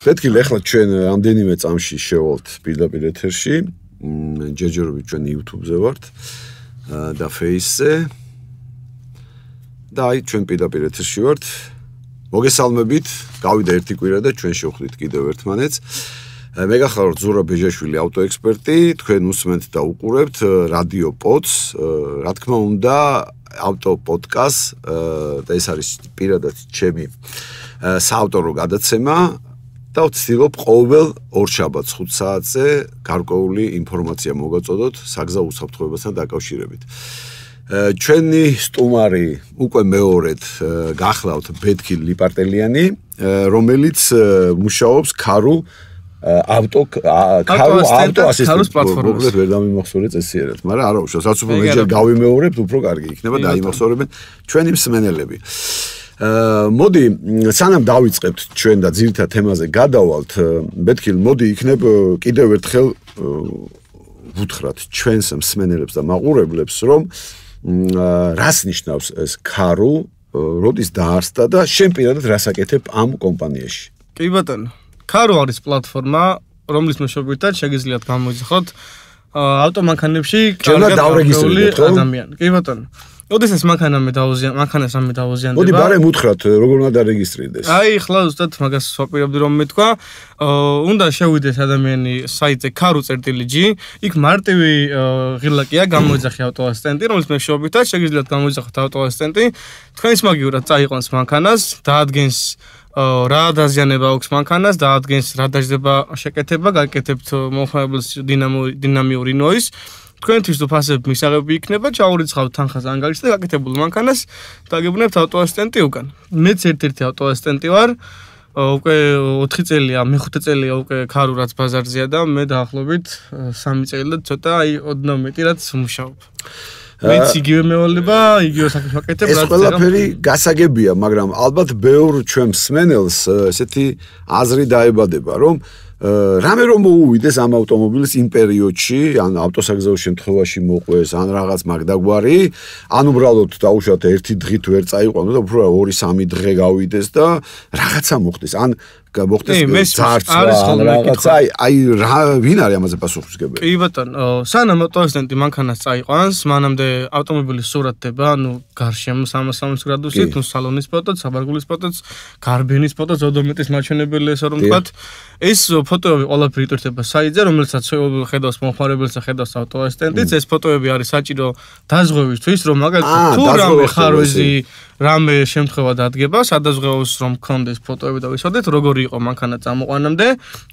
Petki ეხლა ჩვენ ამდენიმე წამში შევალთ პირდაპირ ეთერში. ჯერჯერობით ჩვენ YouTube-ზე ვართ და Face-ზე. და აი ჩვენ პირდაპირ ეთერში ვართ. მოგესალმებით. გავიდა ერთი კვირა და ჩვენ შევხვდით კიდევ ერთმანეთს. მე გახართ ზურაბ ბეჟაშვილი ავტოექსპერტი, თქვენ უსმენთ და უყურებთ რადიო პოდს, რა თქმა უნდა, ავტო პოდკასტ და ეს არის პირადად ჩემი საავტორო გადაცემა და ვცდილობ ყოველ ორშაბათს 5 საათზე გარკვეული ინფორმაცია მოგაწოდოთ საგზაო უსაფრთხოებასთან დაკავშირებით. ჩვენი სტუმარი უკვე მეორედ გახლავთ ბეთქი ლიპარტელიანი, რომელიც მუშაობს ქარო ავტოასისტენტის პლატფორმაზე. ვერ დამიმახსოვრე წესიერად, მაგრამ არა უშავს, რაც უფრო მეჯერ გავიმეორებთ, უფრო კარგი იქნება და იმახსოვრებენ ჩვენი მსმენელები. მოდი, სანამ დავიწყებთ ჩვენ და ძირითად თემაზე გადავალთ, ბეთქილ, მოდი იქნებ კიდევ ერთხელ ვუთხრათ ჩვენს მსმენელებს და მაყურებლებს, რომ რას ნიშნავს ეს ქარო, როდის დაარსდა და შენ პირადად რას აკეთებ ამ კომპანიაში? კი ბატონო. ქარო არის პლატფორმა, რომლის მეშვეობითაც შეგიძლიათ გამოიძახოთ ავტომანქანებში კარგად დავრეგისტრირებული ადამიანი. კი ბატონო. ოდესაც მანქანას რამე დაუზიანდება. მოდი ბარემ უთხრათ, როგორ უნდა დარეგისტრირდეს. აი, ხლა ზუსტად მაგას ვაპირებდი რომ მეთქვა. უნდა შევიდეს ადამიანი საიტზე karo.g, იქ მარტივი ღილაკია გამოიძახი ავტოასისტენტი, რომელიც მეშვეობითაც შეგიძლიათ გამოიძახოთ ავტოასისტენტი. თქვენს მაგივრად წაიყვანს მანქანას, დაადგენს რა დაზიანება აქვს მანქანას, დაადგენს რა დაждდება შეკეთება, გაკეთებთ მომხმარებლის დინამიური ნოიზ. თქვენთვის უფასები მისაღები იქნება, ჩაურიცხავთ თანხას ანგარიშს და გაკეთებულ მანქანას დაგებუნებთ ავტოასისტენტი უკან. მეც ერთ-ერთი ავტოასისტენტი ვარ. უკვე 4 წელია, მე-5 წელია უკვე ქარო რაც ბაზარზეა და მე დაახლოებით 3 წელი და ცოტა აი ოდნავ მეტი რაც მუშაობ. მეც იგივე მევალება, იგივე საქმეს ვაკეთებ, რაც ეს ყველაფერი გასაგებია, მაგრამ ალბათ ბევრ ჩვენ მსმენელს ესეთი აზრი დაებადება, რომ რამე რომ მოუვიდეს ამ ავტომობილის იმ პერიოდში, ან ავტოსაგზაო შემთხვევაში მოყვეს, ან რაღაც მაგდაგვარი, ან უბრალოდ დაუშვათ ერთი დღით ვერ წაიყვანო და უფრო 2-3 დღე გავიდეს და რაღაცა მოხდეს, ან მოხდეს ძარცვა, რაღაცა, აი რა ვინ არის ამაზე პასუხისმგებელი? კი ბატონო, სანამ ავტოასისტენტი მანქანას წაიყვანს, მანამდე ავტომობილის სურათდება, ანუ გარშემო 360 გრადუსით, ნუ სალონის ფოტოც, საბარგულის ფოტოც, გარბენის ფოტოც, ოდომეტის მაჩვენებელი ესე რომ ვთქვათ, ეს ფოტოები ყველაფერი იტვირთება საიტზე, რომელსაც ხედავს მომხმარებელს და ხედავს ავტოასისტენტიც. ეს ფოტოები არის საჭირო დაზღვევისთვის, რომ მაგალითად თუ რამე ხარვეზი, რამე შემთხვევა დადგება, სადაზღვევოს რომ გქონდეს ფოტოები და ვისოდეთ, როგორი იყო მანქანა წამოყვანამდე.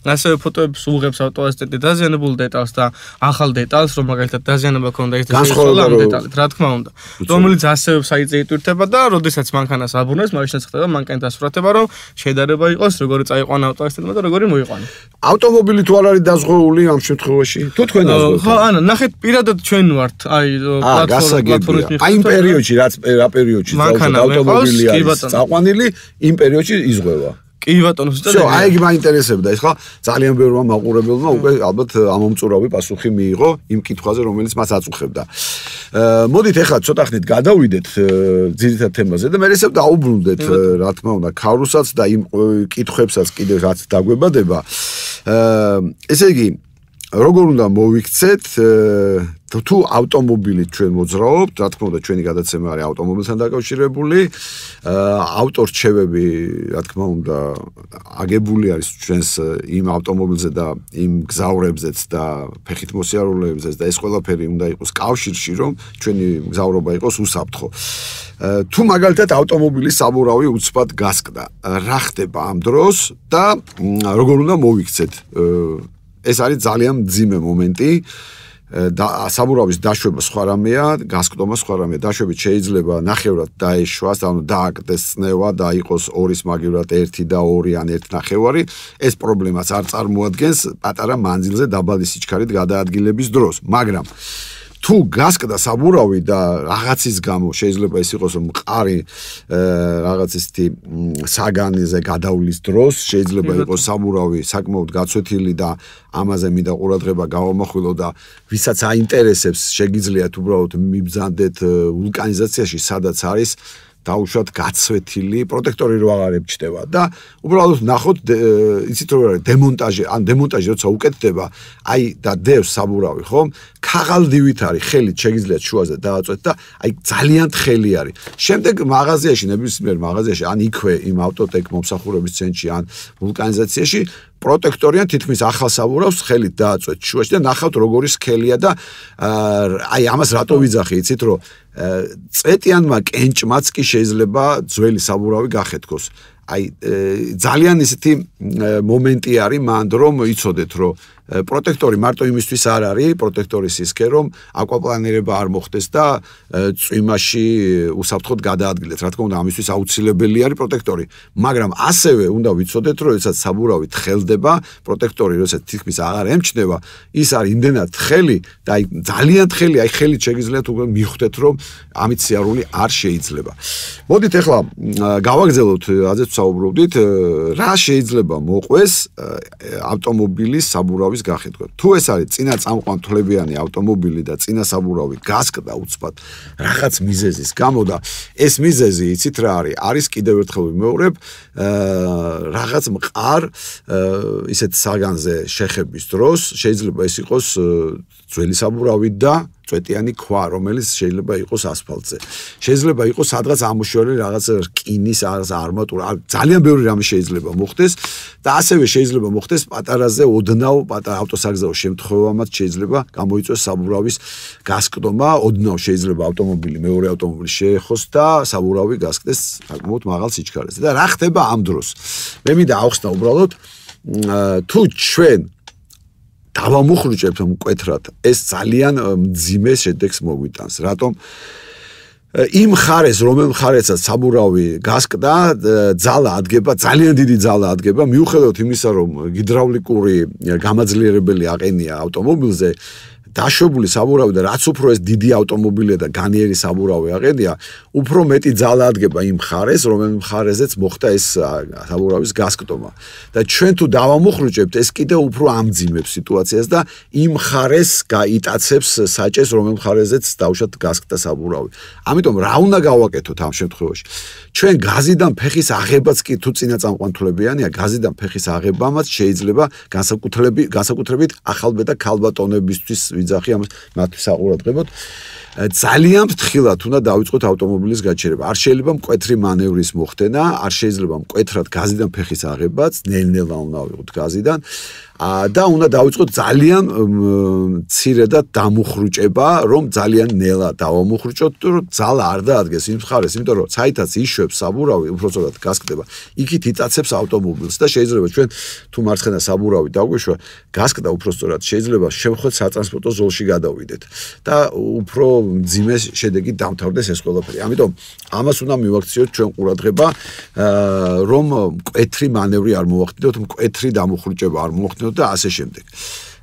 ასევე ფოტოებს უღებს ავტოასისტენტი დაზიანებულ დეტალს და ახალ დეტალს, რომ მაგალითად დაზიანება ქონდა ეს შეცვალა ამ დეტალით, რა თქმა უნდა. რომელიც ასევე საიტზე იტვირთება და როდესაც მანქანას აბრუნებს, მაშინ ხდება მანქანის დასურათება, რომ შედარება იყოს, როგორი წაიყვანა ავტოასისტენტმა და როგორი მოიყვანა. ავტომობილი თუ არ არის დაზღვეული ამ შემთხვევაში? თუ თქვენ დაზღვევთ? ხო, ანა, ნახეთ, პირადად ჩვენ ვართ, აი პლატფორმის აი იმ პერიოდში, რა პერიოდში ავტომობილი არის წაყვანილი, იმ პერიოდში იზღვევა. კი ბატონო, ზუსტად. აი იგი მაინტერესებდა, ეს ხა ძალიან ბევრმა მაყურებელმა უკვე ალბათ ამომწურავი პასუხი მიიღო იმ კითხვაზე, რომელიც მას აწუხებდა. მოდით ახლა ცოტა ხნით გადავიდეთ ძირითად თემაზე და მე ისევ დაუბრუნდეთ, რა თქმა უნდა, ქაროსაც და იმ კითხვებსაც კიდევ რაც დაგვებადება. ესე იგი, როგორ უნდა მოვიქცეთ თუ ავტომობილით ჩვენ მოძრაობთ, რა თქმა უნდა, ჩვენი გადაცემა არის ავტომობილთან დაკავშირებული. ავტორჩევები, რა თქმა უნდა, აგებული არის ჩვენს იმ ავტომობილზე და იმ გზავრებზეც და ფეხით მოსიარულეებზეც და ეს ყველაფერი უნდა იყოს კავშირში, რომ ჩვენი გზავრობა იყოს უსაფრთხო. თუ მაგალითად ავტომობილის საბურავი უცბად გასკდა, რა ხდება ამ დროს და როგორ უნდა მოვიქცეთ? ეს არის ძალიან მძიმე მომენტი. და საბურავის დაშვება სხვა რამეა, გასკდომა სხვა რამეა. დაშვებით შეიძლება ნახევრად დაეშვას, ანუ დააკდეს წნევა და იყოს 2-ის მაგივრად 1 და 2 ან 1.5. ეს პრობლემას არ წარმოადგენს პატარა მანძილზე დაბალი სიჩქარით გადაადგილების დროს, მაგრამ თუ გასკდა საბურავი და რაღაცის გამო შეიძლება ის იყოს რომ მყარი რაღაც ისეთი საგანზე გადავლის დროს შეიძლება იყოს საბურავი საკმაოდ გაცვეთილი და ამაზე მინდა ყურადღება გავამახვილო და ვისაც აინტერესებს შეგიძლიათ უბრალოდ მიბრძანდეთ ვულკანიზაციაში სადაც არის დაუშვათ გაცვეთილი პროტექტორი რო აღარ ებჭდება და უბრალოდ ნახოთ იცით რო არის დემონტაჟი ან დემონტაჟი როცა უკეთდება აი და დევს საბურავი ხომ ქაღალდივით არის ხელით შეგიძლიათ შუაზე დააწვეთ და აი ძალიან თხელი არის შემდეგ მაღაზიაში ნებისმიერ მაღაზიაში ან იქვე იმ ავტოტეკ მომსახურების ცენტრში ან ვულკანიზაციაში პროტექტორიან თითქმის ახალ საბურავს ხელით დააწვეთ შუაში და ნახავთ როგორი სქელია და აი ამას რატო ვიძახი იცით რომ წვეტიანმა კენჭმაც კი შეიძლება ძველი საბურავი გახეთქოს აი ძალიან ისეთი მომენტი არის მანდ რომ იცოდეთ რომ პროტექტორი მარტო იმისთვის არ არის პროტექტორის სისქე რომ აკვაპლანირება არ მოხდეს და წვიმაში უსაფრთხოდ გადაადგილეთ რა თქმა უნდა ამისთვის აუცილებელი არის პროტექტორი მაგრამ ასევე უნდა ვიცოდეთ რომ ეცად საბურავი თხელდება პროტექტორი როცა თითქმის აღარ ემჩნევა ის არის იმდენად თხელი და აი ძალიან თხელი აი ხელით შეგიძლიათ უკვე მიხვდეთ რომ ამით სიარული არ შეიძლება მოდით ახლა გავაგზავნოთ აზეთ საუბრობდით რა შეიძლება მოყვეს ავტომობილის საბურავის გახეთქვა. თუ ეს არის წინა წამყვანთლებიანი ავტომობილი და წინა საბურავი გასკდა უცბად რაღაც მიზეზის გამო და ეს მიზეზი იცით რა არის? არის კიდევ ერთხელ ვიმეორებ რაღაც მყარ ისეთ საგანზე შეხების დროს შეიძლება ეს იყოს ძველი საბურავი და წვეტიანი ქვა, რომელიც შეიძლება იყოს ასფალტზე. შეიძლება იყოს სადღაც ამოშორული რაღაც რკინის არმატურა, ძალიან ბევრი რამე შეიძლება მოხდეს და ასევე შეიძლება მოხდეს პატარაზე ოდნავ პატარა ავტოსაგზაო შემთხვევამაც შეიძლება გამოიწვიოს საბურავის გასკდომა, ოდნავ შეიძლება ავტომობილი მეორე ავტომობილი შეეხოს და საბურავი გასკდეს საკმაოდ მაღალ სიჩქარეზე. და რა ხდება ამ დროს? მე მინდა ავხსნა უბრალოდ თუ ჩვენ დავამუხრუჭებთ მკვეთრად ეს ძალიან მძიმე შედეგს მოგვიტანს რატომ იმ ხარეს რომელ ხარესაც საბურავი გასკდა ძალა ადგება ძალიან დიდი ძალა ადგება მიუხედავად იმისა რომ ჰიდრაულიკური გამაძლიერებელი აყენია ავტომობილზე დაშვებული საბურავი და რაც უფრო ეს დიდი ავტომობილია და განიერი საბურავი აყენია, უფრო მეტი ძალა ადგება იმ ხარეს, რომელ ხარეზეც მოხდა ეს საბურავის გასკდომა. და ჩვენ თუ დავამუხრუჭებთ, ეს კიდევ უფრო ამძიმებს სიტუაციას და იმ ხარეს გაიტაცებს საჭეს, რომელ ხარეზეც დავუშვათ გასკდა საბურავი. ამიტომ რა უნდა გავაკეთოთ ამ შემთხვევაში? ჩვენ გაზიდან ფეხის აღებაც კი თუ წინაწამყვანთლებიანია, გაზიდან ფეხის აღებამაც შეიძლება განსაკუთრებით ახალბედა ქალბატონებისთვის ვიძახი ამას მათთვის საყურადღებოდ ძალიან ფრთხილად უნდა დავიწყოთ ავტომობილის გაჩერება. არ შეიძლება მკვეთრი მანევრის მოხდენა, არ შეიძლება მკვეთრად გაზიდან ფეხის აღებაც, ნელ-ნელა უნდა ავიღოთ გაზიდან და უნდა დავიწყოთ ძალიან მცირედად დამუხრუჭება, რომ ძალიან ნელა დავამუხრუჭოთ, რომ ძალა არ დაადგეს იმ ხარეს, იმიტომ რომ საითაც იშვებს საბურავი, უბრალოდ გასკდება. იქით იტაცებს ავტომობილს და შეიძლება ჩვენ თუ მარცხენა საბურავი დაგვეშვა, გასკდა უბრალოდ შეიძლება შევხვდეთ სატრანსპორტო ზოლში გადავიდეთ და უფრო მძიმე შედეგით დამთავრდეს ეს ყველაფერი. ამიტომ ამას უნდა მივაქციოთ ჩვენ ყურადღება, რომ მკვეთრი მანევრი არ მოვახდინოთ, მკვეთრი დამუხრუჭება არ მოვახდინოთ და ასე შემდეგ.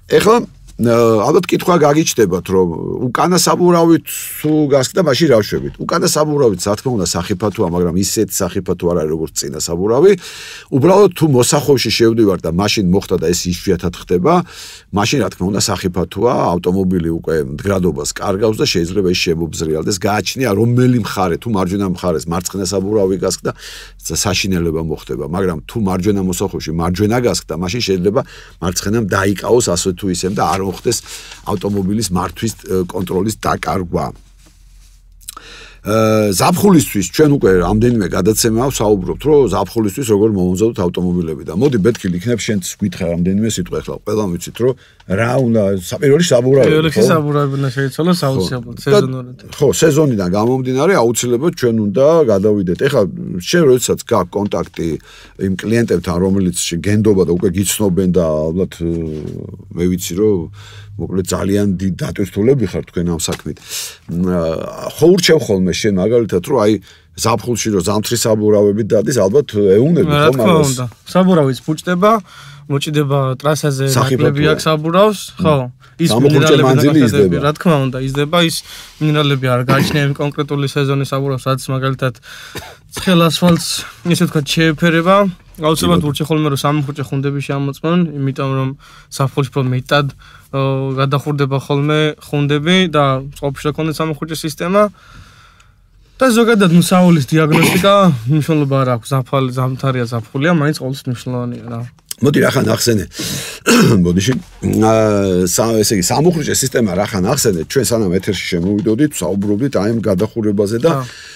ეხლა ალბათ კითხვა გაგიჩნდებათ, რომ უკანა საბურავით თუ გასკდა, მაშინ რა ვშვებით? უკანა საბურავით, რა თქმა უნდა, სახიფათოა, მაგრამ ისეთ სახიფათო არ არის, როგორც წინა საბურავი. უბრალოდ თუ მოსახოვში შევდივარ და მაშინ მოხდა და ეს იშვიათად ხდება, მაშინ რა თქმა უნდა, სახიფათოა, ავტომობილი უკვე მდგრადობას კარგავს და შეიძლება ის შემობზრიალდეს, გააჩნია რომელი მხარე, თუ მარჯვენა მხარეს მარცხენა საბურავი გასკდა, საშინელება მოხდება, მაგრამ თუ მარჯვენა მოსახოვში მარჯვენა გასკდა, მაშინ შეიძლება მარცხენამ დაიკავოს ასე თუ ისე და არ მოხდეს ავტომობილის მართვის კონტროლის დაკარგვა. ზაფხულისთვის ჩვენ უკვე რამდენიმე გადაცემა ვსაუბრობთ, რომ ზაფხულისთვის როგორ მომზადოთ ავტომობილები და მოდი ბეთქილ იქნებ შენც გითხრა რამდენიმე სიტყვა ახლა ყველამ ვიცით, რომ რა უნდა პირველი საბურავი. პირველი საბურავი უნდა შეიცვალოს აუცილებლად სეზონურად. ხო, სეზონიდან გამომდინარე აუცილებლად ჩვენ უნდა გადავიდეთ. ეხლა შენ როდესაც გაქვს კონტაქტი იმ კლიენტებთან, რომელიც გენდობა და უკვე გიცნობენ და ალბათ მე ვიცი, რომ მოკლედ ძალიან დიდ დატვირთულები ხარ თქვენ ამ საქმით. ხო ურჩევ ხოლმე შენ მაგალითად რომ აი ზაფხულში რომ ზამთრის საბურავები დადის, ალბათ ეუნები ხომ ამას. საბურავიც ფუჭდება, მოჭიდება ტრასაზე ნაკლები აქვს საბურავს, ხო. ის მინერალები რა თქმა უნდა იზრდება, ის მინერალები არ გააჩნია იმ კონკრეტული სეზონის საბურავს, რაც მაგალითად ცხელ ასფალტს ისე ვთქვათ შეეფერება. აუცილებლად ურჩე ხოლმე რომ სამუხრუჭე ხუნდები შემოწმონ, იმიტომ რომ ზაფხულში უფრო მეტად გადახურდება ხოლმე ხუნდები და წყალში გქონდეს სამუხრუჭე სისტემა. და ზოგადად მსაულის დიაგნოსტიკა მნიშვნელობა არ აქვს, ზამთარია ზაფხულია, მაინც ყოველთვის მნიშვნელოვანია რა. მოდი რახან ახსენე. ბოდიში ესე იგი სამუხრუჭე სისტემა რახან ახსენე, ჩვენ სანამ ეთერში შემოვიდოდით, საუბრობდით აი ამ გადახურებაზე და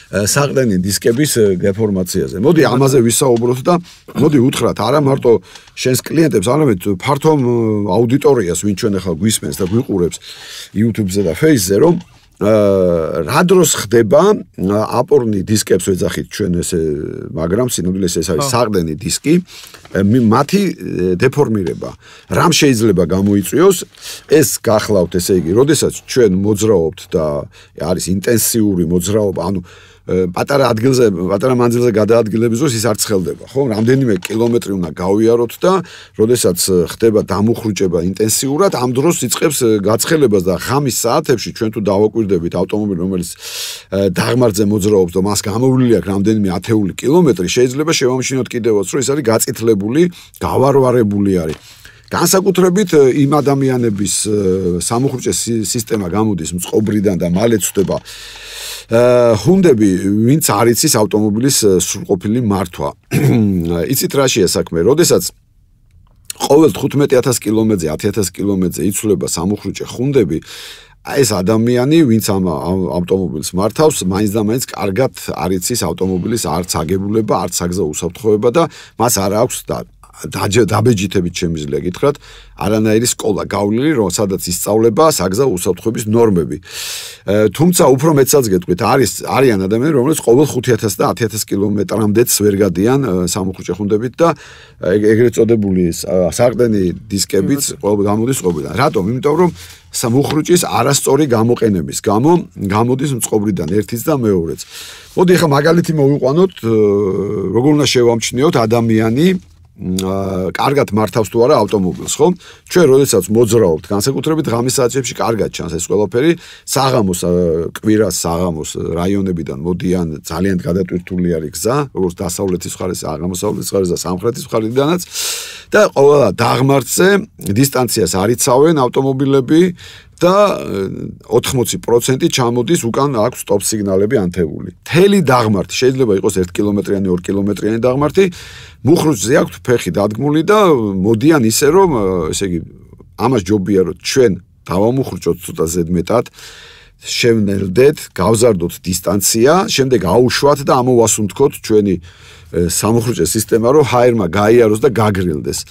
საყრდენი დისკების დეფორმაციაზე. მოდი ამაზე ვისაუბროთ და მოდი უთხრათ არა მარტო შენს კლიენტებს, არამედ ფართო აუდიტორიას, ვინ ჩვენ ახლა გვისმენს და გვიყურებს YouTube-ზე და Facebook-ზე, რომ რა დროს ხდება აპორნი დისკებს ვეძახით ჩვენ ესე, მაგრამ სინამდვილეს ეს არის საყრდენი დისკი, მათი დეფორმირება. რამ შეიძლება გამოიწვიოს? ეს გახლავთ, ესე იგი, როდესაც ჩვენ მოძრაობთ და არის ინტენსიური მოძრაობა, ანუ პატარა ადგილზე, პატარა მანძილზე გადაადგილების დროს ის არ ცხელდება, ხო? რამდენიმე კილომეტრი უნდა გავიაროთ და როდესაც ხდება დამუხრუჭება ინტენსიურად, ამ დროს იწყებს გაცხელებას და ღამის საათებში ჩვენ თუ დავაკვირდებით ავტომობილი, რომელიც დაღმართზე მოძრაობს და მას გამოვლილი აქვს რამდენიმე ათეული კილომეტრი, შეიძლება შევამჩნიოთ კიდევაც, რომ ეს არის გაწითლებული, გავარვარებული არის. განსაკუთრებით იმ ადამიანების სამუხრუჭე სისტემა გამოდის მწყობრიდან და მალე ცდება ჰუნდები, ვინც არ იცის ავტომობილის სრულყოფილი მართვა. იცით რაშია საქმე, როდესაც ყოველ 15000 კილომეტრზე, 10000 კილომეტრზე იცვლება სამუხრუჭე ჰუნდები, ეს ადამიანი, ვინც ამ ავტომობილს მართავს, მაინც და მაინც კარგად არ იცის ავტომობილის არც აგებულება, არც საგზაო უსაფრთხოება და მას არ აქვს დაბეჯითებით შემიძლია გითხრათ, არანაირი სკოლა გავლილი, რომ სადაც ისწავლება საგზაო უსაფრთხოების ნორმები. თუმცა უფრო მეცაც გეტყვით, არიან ადამიანები, რომლებიც ყოველ 5000 და 10000 კილომეტრამდეც ვერ გადიან სამუხრუჭე ჰუნდებით და ეგრეთ წოდებული საყრდენი დისკებიც გამოდის წყობრიდან. რატომ? იმიტომ რომ სამუხრუჭის არასწორი გამოყენების გამო გამოდის მწყობრიდან ერთიც და მეორეც. მოდი ახლა მაგალითი მოვიყვანოთ, როგორ უნდა შევამჩნიოთ ადამიანი კარგად მართავს თუ არა ავტომობილს, ხო? ჩვენ როდესაც მოძრაობთ, განსაკუთრებით ღამის საათებში კარგად ჩანს ეს ყველაფერი, საღამოს კვირას საღამოს რაიონებიდან მოდიან ძალიან გადატვირთული არის გზა, როგორც დასავლეთის მხარეს, აღმოსავლეთის მხარეს და სამხრეთის მხარიდანაც და ყველა დაღმართზე დისტანციას არ იცავენ ავტომობილები და 80% ჩამოდის უკან აქვს სტოპ სიგნალები ანთებული. მთელი დაღმართი შეიძლება იყოს 1 კილომეტრიანი, 2 კილომეტრიანი დაღმართი, მუხრუჭზე აქვს ფეხი დადგმული და მოდიან ისე რომ, ესე იგი, ამას ჯობია რომ ჩვენ დავამუხრუჭოთ ცოტა ზედმეტად, შევნელდეთ, გავზარდოთ დისტანცია, შემდეგ აუშვათ და ამოვასუნთქოთ ჩვენი სამუხრუჭე სისტემა, რომ ჰაერმა გაიაროს და გაგრილდეს.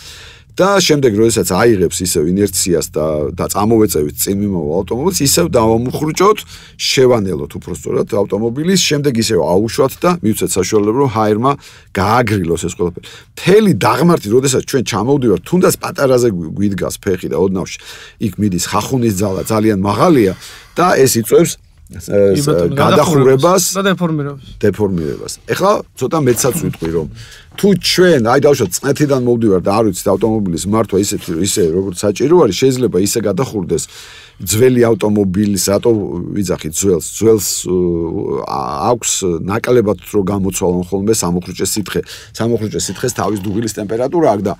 და შემდეგ როდესაც აიღებს ისევ ინერციას და წამოვეწევით წინ მიმავალ ავტომობილს, ისევ დავამუხრუჭოთ, შევანელოთ უბრალოდ ავტომობილის, შემდეგ ისევ აუშვათ და მივცეთ საშუალება, რომ ჰაერმა გააგრილოს ეს ყველაფერი. მთელი დაღმართი, როდესაც ჩვენ ჩამოვდივართ, თუნდაც პატარაზე გვიდგას ფეხი და ოდნავში იქ მიდის ხახუნის ძალა ძალიან მაღალია და ეს იწვევს გადახურებას და დეფორმირებას. ეხლა ცოტა მეცაც ვიტყვი, რომ თუ ჩვენ, აი დავუშვათ, წნეთიდან მოვდივარ და არ ვიცით ავტომობილის მართვა ისე როგორც საჭირო არის, შეიძლება ისე გადახურდეს ძველი ავტომობილის, რატო ვიძახით ძველს აქვს ნაკლებად რო გამოცვალონ ხოლმე სამუხრუჭე სითხე. სამუხრუჭე სითხეს თავის დუღილის ტემპერატურა აქვს და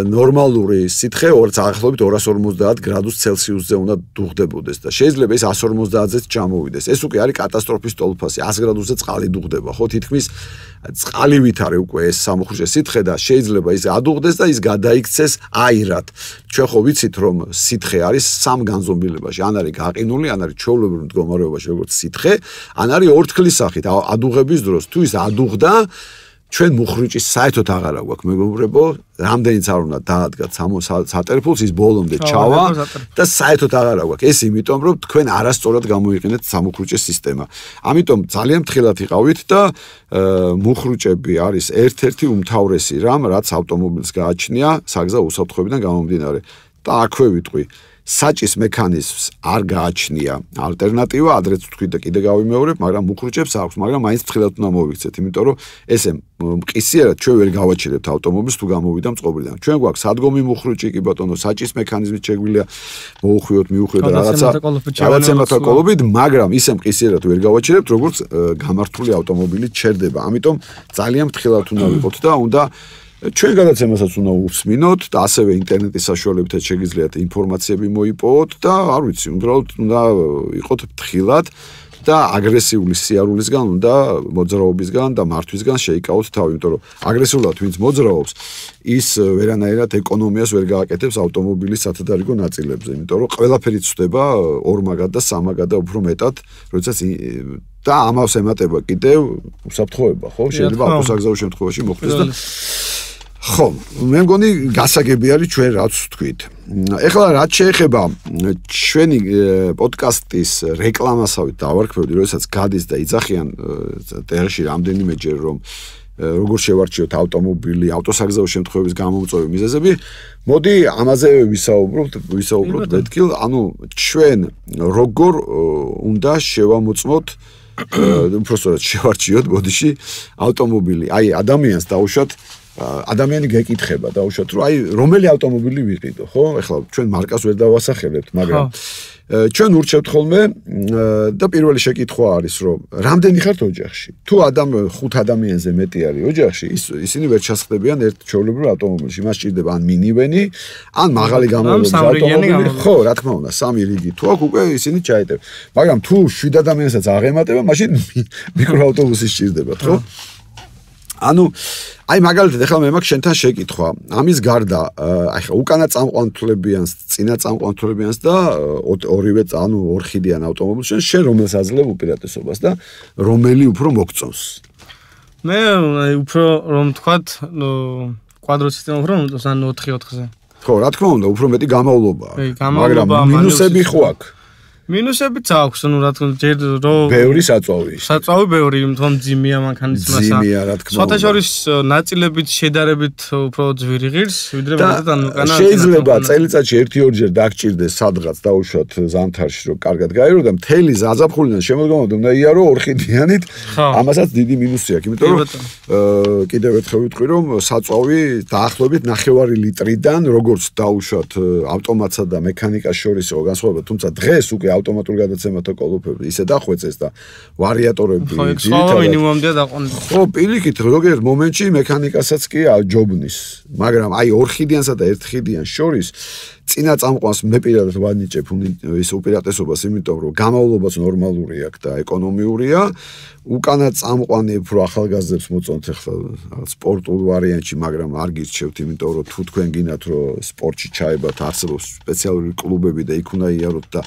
ნორმალური სითხე დაახლოებით 250 გრადუს ცელსიუსზე უნდა დუღდებოდეს და შეიძლება ის 150-ზეც ჩამოვიდეს. ეს უკვე არის კატასტროფის ტოლფასი. 100 გრადუსზე წყალი დუღდება, ხო, თითქმის წყალივით არის უკვე ეს სამუხრუჭე სითხე და შეიძლება ის ადუღდეს და ის გადაიქცეს აირად. ჩვენ ხო ვიცით რომ სითხე არის სამ განზომილებაში, ან არის გაყინული, ან არის ჩვეულებრივ მდგომარეობაში როგორც სითხე, ან არის ორთქლის სახით ადუღების დროს. თუ ის ადუღდა, ჩვენ მუხრუჭის საერთოდ აღარა გვაქვს, მეგობრებო, რამდენიც არ უნდა დაადგათ სატელეფონს ის ბოლომდე ჩავა და საერთოდ აღარა გვაქვს. ეს იმიტომ რომ თქვენ არასწორად გამოიყენეთ სამუხრუჭეს სისტემა. ამიტომ ძალიან ფრთხილად იყავით და მუხრუჭები არის ერთ-ერთი უმთავრესი რამ, რაც ავტომობილს გააჩნია საგზაო უსაფრთხოებიდან გამომდინარე. და აქვე ვიტყვი, საჭის მექანიზმს არ გააჩნია ალტერნატივა, ადრეც ვთქვი და კიდე გავიმეორებ, მაგრამ მუხრუჭებს აქვს, მაგრამ მაინც ფრთხილად უნდა მოვიქცეთ, იმიტომ რომ ესე მყისიერად ჩვენ ვერ გავაჩერებთ ავტომობილს თუ გამოვიდა მწყობრიდან. ჩვენ გვაქვს სადგომი მუხრუჭი, კი ბატონო, საჭის მექანიზმით შეგვიძლია მოუხვიოთ, მიუხვიოთ რაღაცა მეთაკოლობით, მაგრამ ისე მყისიერად ვერ გავაჩერებთ, როგორც გამართული ავტომობილი ჩერდება. ამიტომ ძალიან ფრთხილად უნდა ვიყოთ და უნდა ჩვენ გადაცემასაც უნდა უსმინოთ და ასევე ინტერნეტის საშუალებითაც შეგიძლიათ ინფორმაციები მოიპოვოთ და არ ვიცი, უბრალოდ უნდა იყოთ ფრთხილად და აგრესიული სიარულისგან უნდა მოძრაობისგან და მართვისგან შეიკავოთ თავი, იმიტომ რომ აგრესიულად ვინც მოძრაობს, ის ვერანაირად ეკონომიას ვერ გააკეთებს ავტომობილის სათადარიგო ნაწილებზე, იმიტომ რომ ყველაფერი ცვდება ორმაგად და სამაგად და უფრო მეტად, როდესაც და ამას ემატება კიდევ უსაფრთხოება, ხო? შეიძლება ავტოსაგზაო შემთხვევაში მოხდეს და ხო, მე მგონი გასაგები არის ჩვენ რაც ვთქვით. ეხლა რაც შეეხება ჩვენი პოდკასტის რეკლამასავით დავარქმევდი, როდესაც გადის და იძახიან ტელეში რამდენიმეჯერ რომ როგორ შევარჩიოთ ავტომობილი, ავტოსაგზაო შემთხვევების გამომწვევი მიზეზები, მოდი ამაზე ვისაუბროთ მეთქილ, ანუ ჩვენ როგორ უნდა შევამოწმოთ უბრალოდ შევარჩიოთ ბოდიში ავტომობილი. აი ადამიანს დაუშვათ ადამიანი გეკითხება დაუშვათ რომ აი რომელი ავტომობილი ვიყიდო, ხო? ეხლა ჩვენ მარკას ვერ დავასახელებთ, მაგრამ ჩვენ ურჩევთ ხოლმე და პირველი შეკითხვა არის რომ რამდენი ხართ ოჯახში? თუ 5 ადამიანზე მეტი არის ოჯახში, ისინი ვერ ჩასხდებიან ერთ ჩვეულებრივ ავტომობილში. მას სჭირდება ან მინივენი, ან მაღალი გამავლობის ავტომობილი. ხო, რა თქმა უნდა, 3 რიგი. თუ აქ უკვე ისინი ჩაეტევ. მაგრამ თუ 7 ადამიანსაც აღემატება, მაშინ მიკროავტობუსი სჭირდებათ, ხო? ანუ აი მაგალითად ახლა მე მაქვს შენთან შეკითხვა. ამის გარდა აი ხა უკანა წამყვანთლებიანს, წინა წამყვანთლებიანს და ორივე ანუ ორხიდიან ავტომობილს შენ რომელს აძლევ უპირატესობას და რომელი უფრო მოგწონს? მე უფრო რომ თქვათ კვადრო სისტემა უფრო მომწონს ან 4-4-ზე. ხო, რა თქმა უნდა, უფრო მეტი გამავლობაა. მაგრამ მინუსები ხო აქვს? მინუსებიც აქვს, ну რა თქმა უნდა, ჯერ რომ ბევრი საწვავი. საწვავი ბევრი, თუმცა ძიმია მანქანისმასა. ძიმია, რა თქმა უნდა. სხვათაშორის ნაწილებით შედარებით უფრო ძვირი ღირს, ვიდრე მაგათ ან უკანა. შეიძლება წელიწადში 1-2 დაგჭირდეს სადღაც დაუშვათ ზამთარში, რომ კარგად გაიარო და მთელი ზაფხულიდან შემოდგომამდე უნდა იარო ორხიდიანით. ამასაც დიდი მინუსი აქვს, იმიტომ რომ კიდევ ერთხელ ვიტყვი, რომ საწვავი დაახლოებით 9 ლიტრიდან, როგორც დაუშვათ ავტომატსა და მექანიკას შორის განსხვავება, თუმცა დღეს უკვე ავტომატურ გადაცემათა კოლოფები ისე დახვეწეს და ვარიატორები ძირითადად მინიმუმამდე დაყოლეს. ხო, პირიქით, ზოგიერთ მომენტში მექანიკასაც კი აჯობნის, მაგრამ აი ორხიდიანსა და ერთხიდიან შორის წინა წამყვანს მე პირადად ვანიჭებ ის უპირატესობას, იმიტომ რომ გამავლობაც ნორმალური აქვს და ეკონომიურია. უკანა წამყვანი უფრო ახალგაზრდებს მოწონთ ახლა სპორტულ ვარიანტში, მაგრამ არ გირჩევთ, იმიტომ რომ თუ თქვენ გინდათ რომ სპორტში ჩაებათ, არსებობს სპეციალური კლუბები და იქ უნდა იაროთ და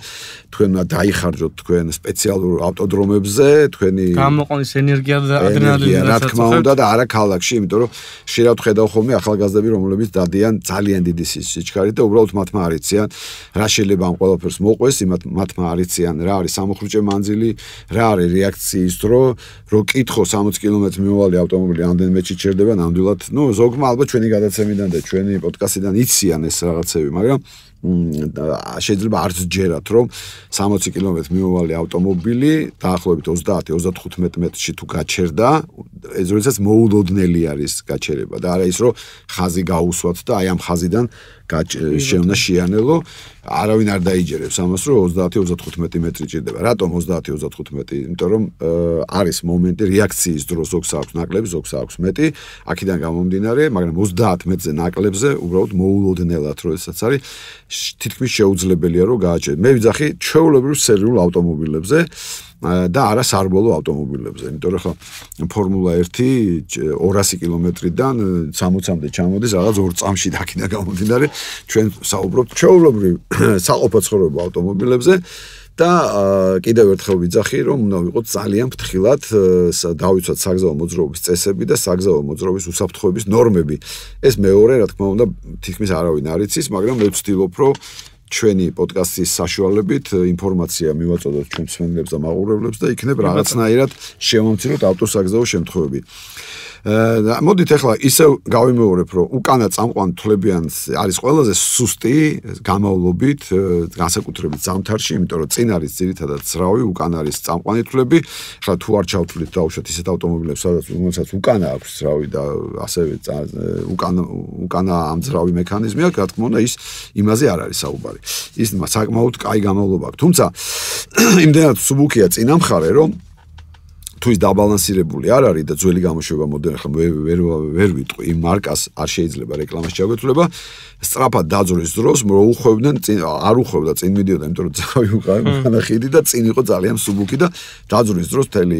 თქვენ უნდა დაიხარჯოთ თქვენ სპეციალურ ავტოდრომებზე, თქვენი გამოყვანის ენერგია და ადრენალინი რა თქმა უნდა და არა ქალაქში, იმიტომ რომ შეიძლება ხედავ ხოლმე ახალგაზრდები, რომლებიც დადიან ძალიან დიდი სიჩქარით და უბრალოდ მათმა არიციან, რა შეიძლება ამ ყველაფერს მოყვეს, მათმა არიციან, რა არის სამოხრუჭე მანძილი, რა არის რეაქციის დრო, რომ კითხო 60 კილომეტრ მიმოვალი ავტომობილი ამდენ მეჩი ჩერდება, ნამდვილად, ну, ზოგმა ალბათ ჩვენი გადაცემიდან და ჩვენი პოდკასტიდან იციან ეს რაღაცები, მაგრამ შეიძლება არც ჯერათ, რომ 60 კილომეტრი მიმოვალი ავტომობილი დაახლოებით 30-35 მეტრში თუ გაჩერდა, ეს როდესაც მოულოდნელი არის გაჩერება და არა ის, რომ ხაზი გაუსვათ და აი ამ ხაზიდან შეუნდა შეანელო, არავინ არ დაიჯერებს ამას, რომ 30-35 მეტრი ჭირდება. რატომ 30-35? იმიტომ რომ არის მომენტი რეაქციის დროს ზოგს აქვს ნაკლები, ზოგს აქვს მეტი, აქედან გამომდინარე, მაგრამ 30 მეტრზე ნაკლებზე უბრალოდ მოულოდნელად როდესაც არის თითქმის შეუძლებელია რომ გააჩერდეს. მე ვიძახი ჩვეულებრივ სერიულ ავტომობილებზე და არა სარბოლო ავტომობილებზე, იმიტომ რომ ხა ფორმულა 1 200 კილომეტრიდან 60-მდე ჩამოდის რაღაც 2 წამში და აქედან გამომდინარე ჩვენ საუბრობთ ჩვეულებრივ საყოფაცხოვრებო ავტომობილებზე და კიდევ ერთხელ ვიძახი რომ უნდა ვიყოთ ძალიან ფრთხილად დავიცვათ საგზაო მოძრაობის წესები და საგზაო მოძრაობის უსაფრთხოების ნორმები. ეს მეორე, რა თქმა უნდა, თითქმის არავინ არ იცის, მაგრამ მე ვცდილობ რომ ჩვენი პოდკასტის საშუალებით ინფორმაცია მივაწოდოთ ჩვენ მსმენელებს და მაყურებლებს და იქნებ რაღაცნაირად შევამციროთ ავტოსაგზაო შემთხვევები. მოდით ახლა ისევ გავიმეორებ, რომ უკანა წამყვან თვლებიანს არის ყველაზე სუსტი გამავლობით, განსაკუთრებით ზამთარში, იმიტომ რომ წინ არის ძირითადად ძრავი, უკან არის წამყვანი თვლები. ახლა თუ არ ჩავთვლით დაუშვათ ისეთ ავტომობილებს, რომელსაც უკანა აქვს ძრავი და ასევე უკანა ამ ძრავი მექანიზმი აქვს, რა თქმა უნდა, ის იმაზე არ არის საუბარი. ის საკმაოდ კაი გამავლობა აქვს. თუმცა იმდენად სუბუქია წინა მხარე, რომ თუ ის დაბალანსირებული არ არის და ძველი გამოშვება მოდელი ხომ ვერ ვიტყვი იმ მარკას არ შეიძლება რეკლამაში ჩაგვეთვლება სწრაფად დაძვრის დროს რომ უხვევდნენ არ უხვევდა წინ მიდიოდა იმიტომ რომ ძავი უყარი ხიდი და წინ იყო ძალიან მსუბუქი და დაძვრის დროს მთელი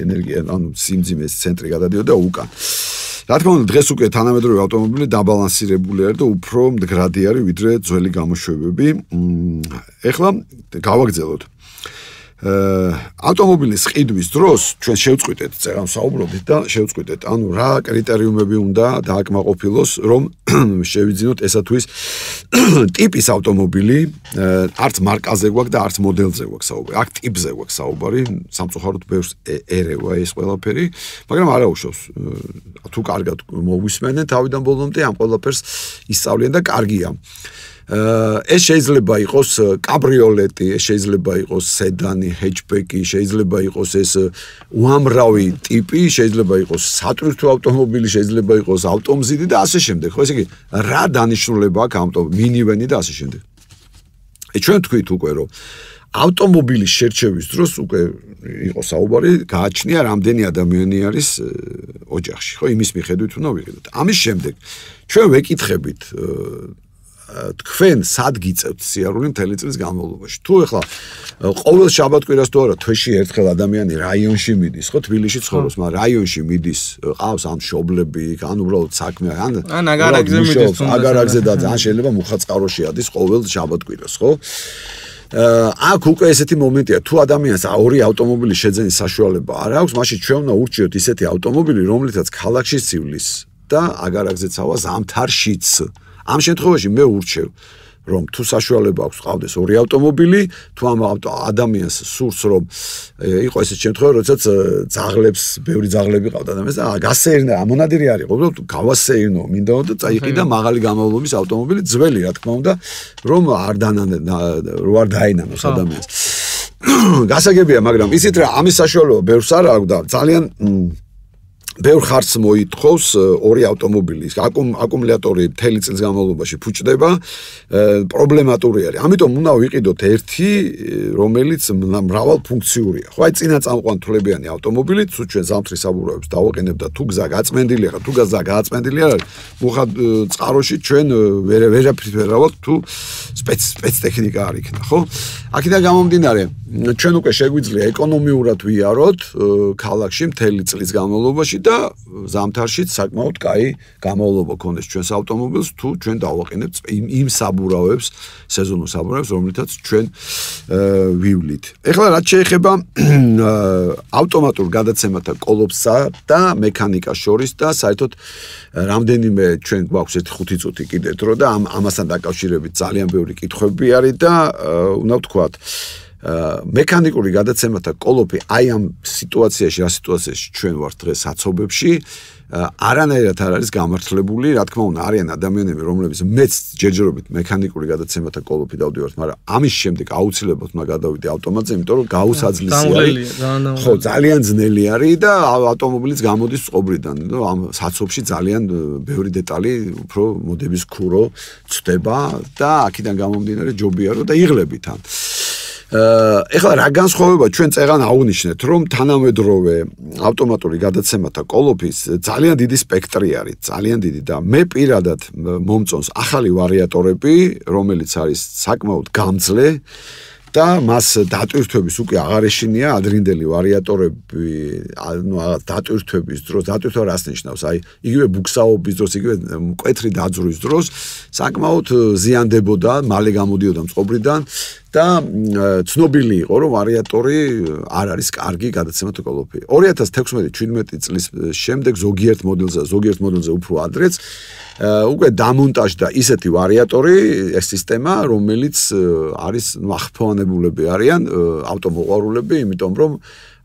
ენერგია ანუ სიმძიმეს ცენტრი გადადიოდა უკან რა თქმა უნდა დღეს უკვე თანამედროვე ავტომობილი დაბალანსირებული არის და უფრო მდგრადი არის ვიდრე ძველი გამოშვებები ეხლა გავაგრძელოთ ავტომობილის ყიდვის დროს ჩვენ შევწყვიტეთ წერან საუბრობთ და შევწყვიტეთ ანუ რა კრიტერიუმები უნდა დააკმაყოფილოს რომ შევიძინოთ ესა თუ ის ტიპის ავტომობილი არც მარკაზე გვაქვს და არც მოდელზე გვაქვს საუბარი აქ ტიპზე გვაქვს საუბარი სამწუხაროდ ბევრს ერევა ეს ყველაფერი მაგრამ არა უშავს თუ კარგად მოვისმენენ თავიდან ბოლომდე ამ ყველაფერს ისწავლიან და კარგია ეს შეიძლება იყოს კაბრიოლეტი, ეს შეიძლება იყოს სედანი, ჰეჩბექი, შეიძლება იყოს ეს უამრავი ტიპი, შეიძლება იყოს სატვირთო ავტომობილი, შეიძლება იყოს ავტომზიდი და ასე შემდეგ. ხო, ესე იგი, რა დანიშნულება აქვს ავტომობილი, მინივენი და ასე შემდეგ. ჩვენ თქვით უკვე რომ ავტომობილის შერჩევის დროს უკვე იყო საუბარი, გააჩნია რამდენი ადამიანი არის ოჯახში, ხო, იმის მიხედვით უნდა ვიყიდოთ. ამის შემდეგ ჩვენ ვეკითხებით თქვენ სად გიწევთ სიარული მთელი წლის განმავლობაში. თუ ეხლა ყოველ შაბათ-კვირას თუ არა თვეში ერთხელ ადამიანი რაიონში მიდის, ხო, თბილისში ცხოვრობს, მაგრამ რაიონში მიდის, ყავს ამ მშობლები, ან უბრალოდ საქმე, ან აგარაგზე მიდის, აგარაგზე და ან შეიძლება მუხაწკაროში ადის ყოველ შაბათ-კვირას, ხო? აქ უკვე ესეთი მომენტია, თუ ადამიანს ორი ავტომობილი შეძენის საშუალება არ აქვს, მაშინ ჩვენ უნდა ურჩიოთ ისეთი ავტომობილი, რომლითაც ქალაქში ცივლის და აგარაგზეც ავა ზამთარშიც. ამ შემთხვევაში მე ურჩევ რომ თუ საშუალება აქვს ყავდეს ორი ავტომობილი თუ ამ ადამიანს სურს რომ იყო ესეთ შემთხვევა როდესაც ძაღლებს ბევრი ძაღლები ყავდა ადამიანს და გასეირნა ამონადირი არის უბრალოდ გავასეირნო მინდა და წაიყიდა მაღალი გამოვლობის ავტომობილი ძველი რა თქმა უნდა რომ არ დაინანოს ადამიანს გასაგებია მაგრამ ისიც რა ამის საშუალება ბევრს არ აქვს და ძალიან ბევრ ხარც მოითხოვს ორი ავტომობილი. აკუმულატორი მთელი წლის განმავლობაში ფუჭდება, პრობლემატური არის. ამიტომ უნდა ვიყიდოთ ერთი, რომელიც მრავალფუნქციურია. ხო, აი წინა წამყვანთლებიანი ავტომობილი, თუ ჩვენ ზამთრის საბურავებს დავაყენებ და თუ გზა გაწმენდილია, თუ გზა გააწმენდილი არ არის, მუხად წყაროში ჩვენ ვერაფერს ვერ ავალთ თუ სპეცტექნიკა არ იქნა, ხო? აქედან გამომდინარე, ჩვენ უკვე შეგვიძლია ეკონომიურად ვიაროთ ქალაქში მთელი წლის განმავლობაში და ზამთარშიც საკმაოდ კაი გამოვლობა ქონდეს ჩვენს ავტომობილს თუ ჩვენ დავაყენებთ იმ საბურავებს, სეზონურ საბურავებს, რომლითაც ჩვენ ვივლით. ეხლა რაც შეეხება ავტომატურ გადაცემათა კოლოფსა და მექანიკას შორის და საერთოდ რამდენიმე ჩვენ გვაქვს ერთი 5 წუთი კიდე დრო და ამასთან დაკავშირებით ძალიან ბევრი კითხვები არის და უნდა ვთქვათ მექანიკური გადაცემათა კოლოფი აი ამ სიტუაციაში, რა სიტუაციაში ჩვენ ვართ დღეს საცობებში, არანაირად არ არის გამართლებული, რა თქმა უნდა, არიან ადამიანები, რომლებიც მეც ჯერჯერობით მექანიკური გადაცემათა კოლოფი დავდივართ, მაგრამ ამის შემდეგ აუცილებლად უნდა გადავიდე ავტომატზე, იმიტომ რომ გაუსაძლისი არის. ხო, ძალიან ძნელი არის და ავტომობილიც გამოდის წყობრიდან, ამ საცობში ძალიან ბევრი დეტალი უფრო მოდების ქურო ცდება და აქედან გამომდინარე ჯობია რომ და იღლებით ან ეხლა რა განსხვავება ჩვენ წეგან აღვნიშნეთ რომ თანამედროვე ავტომატური გადაცემათა კოლოფის ძალიან დიდი სპექტრი არის ძალიან დიდი და მე პირადად მომწონს ახალი ვარიატორები რომელიც არის საკმაოდ გამძლე და მას დატვირთვების უკვე აღარ ეშინია ადრინდელი ვარიატორები ანუ დატვირთვების დროს დატვირთვა რას ნიშნავს აი იგივე ბუქსაობის დროს იგივე მკვეთრი დაძვრის დროს საკმაოდ ზიანდებოდა მალე გამოდიოდა მწყობრიდან და ცნობილი იყო რომ ვარიატორი არ არის კარგი გადაცემათა კოლოფი 2016-17 წლის შემდეგ ზოგიერთ მოდელზე უფრო ადრეც უკვე დამონტაჟდა ისეთი ვარიატორი ეს სისტემა რომელიც არის ახფოვანებულები არიან ავტომოყვარულები იმიტომ რომ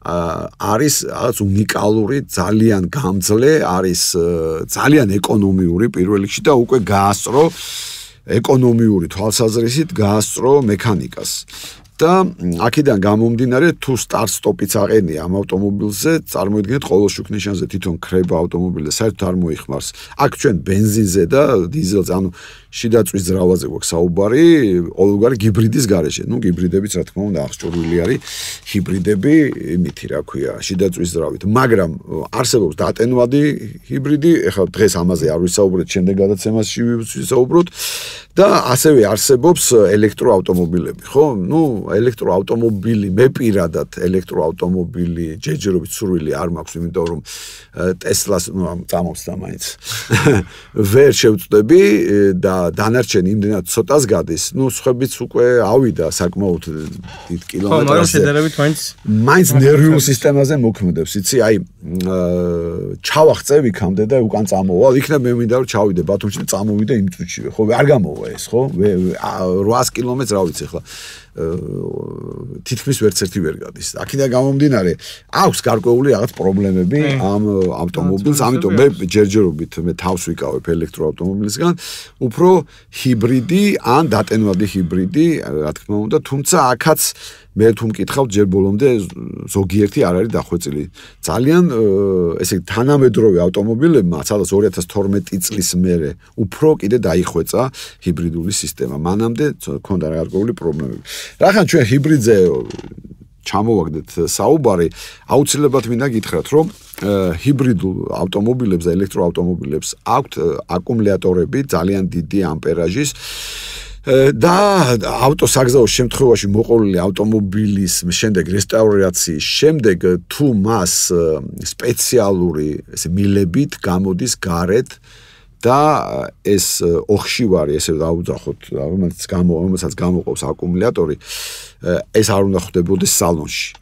არის რაღაც უნიკალური ძალიან გამძლე არის ძალიან ეკონომიური პირველ რიგში და უკვე გაასწრო ეკონომიური თვალსაზრისით გაასწრო მექანიკას და აქედან გამომდინარე თუ სტარტ-სტოპიც აყენია ამ ავტომობილზე, წარმოიდგინეთ ყოველ შუქნიშანზე თვითონ ქრება ავტომობილი და საერთოდ არ მოიხმარს. აქ ჩვენ ბენზინზე და დიზელზე, ანუ შიდა წვის ძრავაზე გვაქვს საუბარი, ყოველგვარი ჰიბრიდის გარეშე. ნუ ჰიბრიდებიც რა თქმა უნდა აღჭურვილი არის, ჰიბრიდები იმითი რა ქვია, შიდა წვის ძრავით. მაგრამ არსებობს დატენვადი ჰიბრიდი, ეხლა დღეს ამაზე არ ვისაუბრეთ, შემდეგ გადაცემაში ვისაუბროთ და ასევე არსებობს ელექტროავტომობილები, ხო? ნუ ელექტროავტომობილი, მე პირადად ელექტროავტომობილი ჯერჯერობით სურვილი არ მაქვს, იმიტომ რომ ტესლას, ნუ წამოვსდა მაინც. ვერ შევწდები და დანარჩენი იმდენად ცოტას გადის, ნუ სხვებიც უკვე ავიდა საკმაოდ დიდ კილომეტრაზე. ხო, მაგრამ შედარებით მაინც ნერვიულ სისტემაზე მოქმედებს, იცი, აი ჩავახწევ იქამდე და უკან წამოვალ, იქნებ მე მინდა რომ ჩავიდე ბათუმში და წამოვიდე იმ წუთშივე, ხო, არ გამოვა ეს, ხო? 800 კილომეტრს რა ვიცი ახლა. თითქმის ვერც ერთი ვერ გადის. აქედან გამომდინარე, აქვს გარკვეული რაღაც პრობლემები ამ ავტომობილს, ამიტომ მე ჯერჯერობით მე თავს ვიკავებ ელექტროავტომობილისგან, უფრო ჰიბრიდი ან დატენვადი ჰიბრიდი, რა თქმა უნდა, თუმცა აქაც მე თუ მკითხავთ ჯერ ბოლომდე ზოგიერთი არ არის დახვეწილი. ძალიან ესე თანამედროვე ავტომობილებმა, სადაც 2012 წლის მერე უფრო კიდე დაიხვეწა ჰიბრიდული სისტემა. მანამდე ქონდა გარკვეული პრობლემები. რახან ჩვენ ჰიბრიდზე ჩამოვაგდეთ საუბარი, აუცილებლად მინდა გითხრათ, რომ ჰიბრიდულ ავტომობილებს და ელექტროავტომობილებს აქვთ აკუმულატორები ძალიან დიდი ამპერაჟის და ავტოსაგზაოს შემთხვევაში მოყოლილი ავტომობილის შემდეგ რესტავრაციის შემდეგ თუ მას სპეციალური ესე მილებით გამოდის გარეთ და ეს ოხშივარი ესე დაუძახოთ, რომელსაც გამოყავს აკუმულატორი, ეს არ უნდა ხდებოდეს სალონში.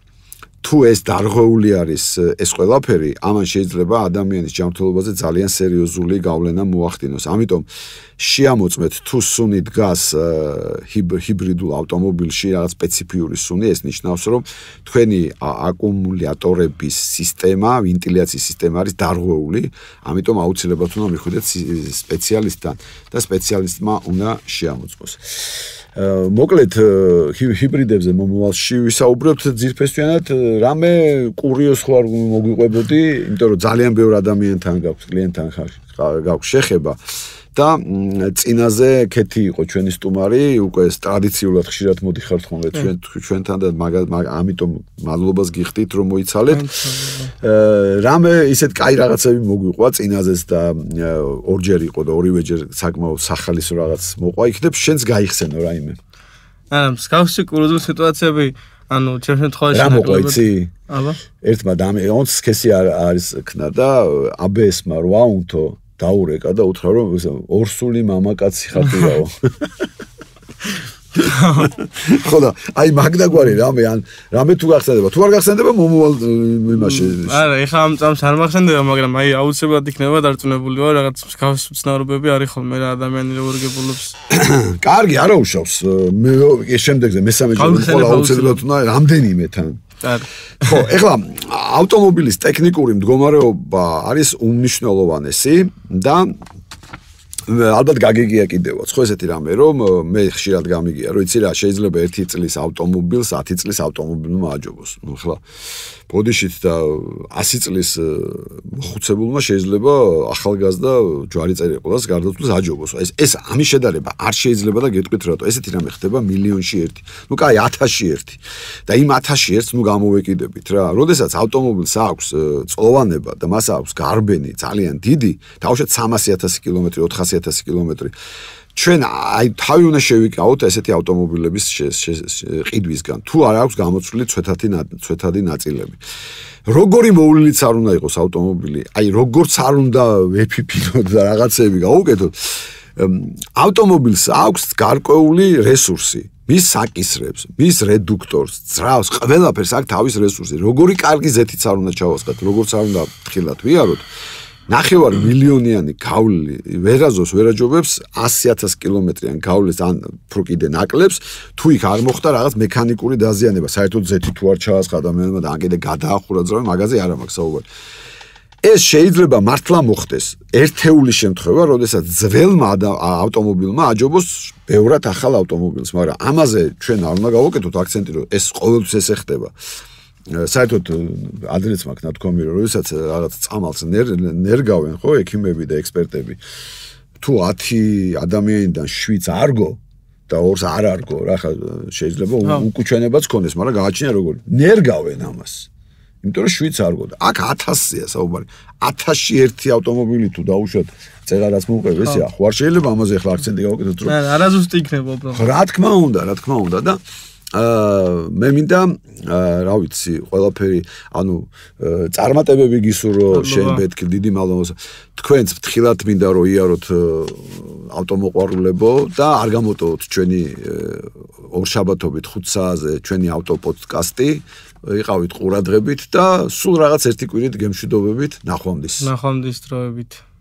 თუ ეს დარღვეული არის ეს ყველაფერი, ამან შეიძლება ადამიანის ჯანმრთელობაზე ძალიან სერიოზული გავლენა მოახდინოს. ამიტომ შეამოწმეთ თუ სუნი დგას ჰიბრიდულ ავტომობილში რაღაც სპეციფიური სუნი, ეს ნიშნავს რომ თქვენი აკუმულატორების სისტემა, ვენტილაციის სისტემა არის დარღვეული, ამიტომ აუცილებლად უნდა მიხვიდეთ სპეციალისტთან და სპეციალისტმა უნდა შეამოწმოს. მოკლედ ჰიბრიდებზე მომავალში ვისაუბრებთ ძირფესვიანად, რამე კურიოს ხო არ მოგვიყვებოდი, იმიტომ რომ ძალიან ბევრ ადამიანთან გაქვს, კლიენტთან გაქვს შეხება და წინაზე ქეთი იყო ჩვენი სტუმარი, უკვე ტრადიციულად ხშირად მოდიხართ ხოლმე ჩვენთან და ამიტომ მადლობას გიხდით რომ მოიცალეთ. რამე ისეთ კაი რაღაცები მოგვიყვა წინაზეც და ორჯერ იყო და ორივეჯერ საკმაოდ სახალისო რაღაც მოყვა, იქნებ შენს გაიხსენო რაიმე. არა, მსგავსი კურიოზული სიტუაციები, ანუ ჩემ შემთხვევაში რა მოყვა იცი? აბა. ერთმა დამეონს სქესი არის ქნა და აბესმა რა უნთო დაურეკა და უთხრა რომ ორსული მამაკაცი ხარდიაო. ხო და აი მაგდაგვარი რამე ან რამე თუ გახსენდება, თუ არ გახსენდება მომავალ იმაში. არა, ეხლა ამ წამს არ მახსენდება, მაგრამ აი აუცილებლად იქნება დარწმუნებული ვარ, რაღაც მსგავსი ცნაურობები არის ხოლმე რა ადამიანი როგორ გებულობს. კარგი, არა უშავს. მე შემდეგზე მესამე ჯერ აუცილებლად უნდა რამდენიმე თან. ხო, ეხლა ავტომობილის ტექნიკური მდგომარეობა არის უმნიშვნელოვანესი და ალბათ გაგიგია კიდევაც, ხო ესეთი რამე, რომ მე ხშირად გამიგია, რომ იცი რა, შეიძლება 1 წლის ავტომობილს 10 წლის ავტომობილმა აჯობოს. ნუ ხლა ბოდიშით და 100 წლის მოხუცებულმა შეიძლება ახალგაზრდა ჯვარი წერიყლას გარდაცვლილს აჯობოს. ეს ამის შედარება არ შეიძლება და გეტყვით რატო. ესეთი რამე ხდება მილიონში ერთი. ნუ კაი 1000-ში ერთი. და იმ 1000-ში ერთს ნუ გამოვეკიდებით რა. როდესაც ავტომობილს აქვს წლოვანება და მას აქვს გარბენი ძალიან დიდი, თავშეთ 300,000 კილომეტრი, 400,000 კილომეტრი. ჩვენ აი თავი უნდა შევიკავოთ ესეთი ავტომობილების ყიდვისგან. თუ არ აქვს გამოცვლილი ცვეთადი ნაწილები. როგორი მოვლილიც არ უნდა იყოს ავტომობილი, აი როგორც არ უნდა ვეფიფინოთ და რაღაცები გავუკეთოთ. ავტომობილს აქვს გარკვეული რესურსი. მის საკისრებს, მის რედუქტორს, ძრავს, ყველაფერს აქვს თავის რესურსი. როგორი კარგი ზეთიც არ უნდა ჩავასხათ, როგორც არ უნდა ფრთხილად ვიაროთ. 9 მილიონიანი გავლილი ვერაზოს ვერაჯობებს 100,000 კილომეტრიან გავლილს ან უფრო კიდე ნაკლებს, თუ იქ არ მოხდა რაღაც მექანიკური დაზიანება, საერთოდ ზეთი თუ არ ჩაასხა ადამიანმა და ან კიდე გადაახურა ძრავი, მაგაზე არ მაქვს საუბარი. ეს შეიძლება მართლა მოხდეს ერთეული შემთხვევა, როდესაც ძველმა ავტომობილმა აჯობოს ბევრად ახალ ავტომობილს, მაგრამ ამაზე ჩვენ არ უნდა გავაკეთოთ აქცენტი, რომ ეს ყოველთვის ესე ხდება. საერთოდ ადრეც მაქვს ნათქვამი, რომ როდესაც რაღაც წამალს ნერგავენ, ხო, ექიმები და ექსპერტები, თუ 10 ადამიანიდან 7 არგო და 2-ს არ არგო, რა ხა შეიძლება უკუჩვენებაც ქონდეს, მაგრამ გააჩნია როგორი. ნერგავენ ამას. იმიტომ რომ 7-ს არგო და აქ 1000-ია საუბარი. 1000-ში ერთი ავტომობილი თუ დაუშვათ წერარაც მოუყევ, ესეა. ხო არ შეიძლება ამაზე ახლა აქცენტი გავაკეთოთ, რომ არაზუსტი იქნება უბრალოდ. რა თქმა უნდა და მე მინდა რა ვიცი ყველაფერი ანუ წარმატებები გისურვო შენ ბეთქი დიდი მადლობა თქვენც ფრთხილად მინდა რომ იაროთ ავტომოყვარულებო და არ გამოტოვოთ ჩვენი ორშაბათობით 5 საათზე ჩვენი ავტოპოდკასტი იყავით ყურადღებით და სულ რაღაც ერთი კვირით გემშვიდობებით ნახვამდის დროებით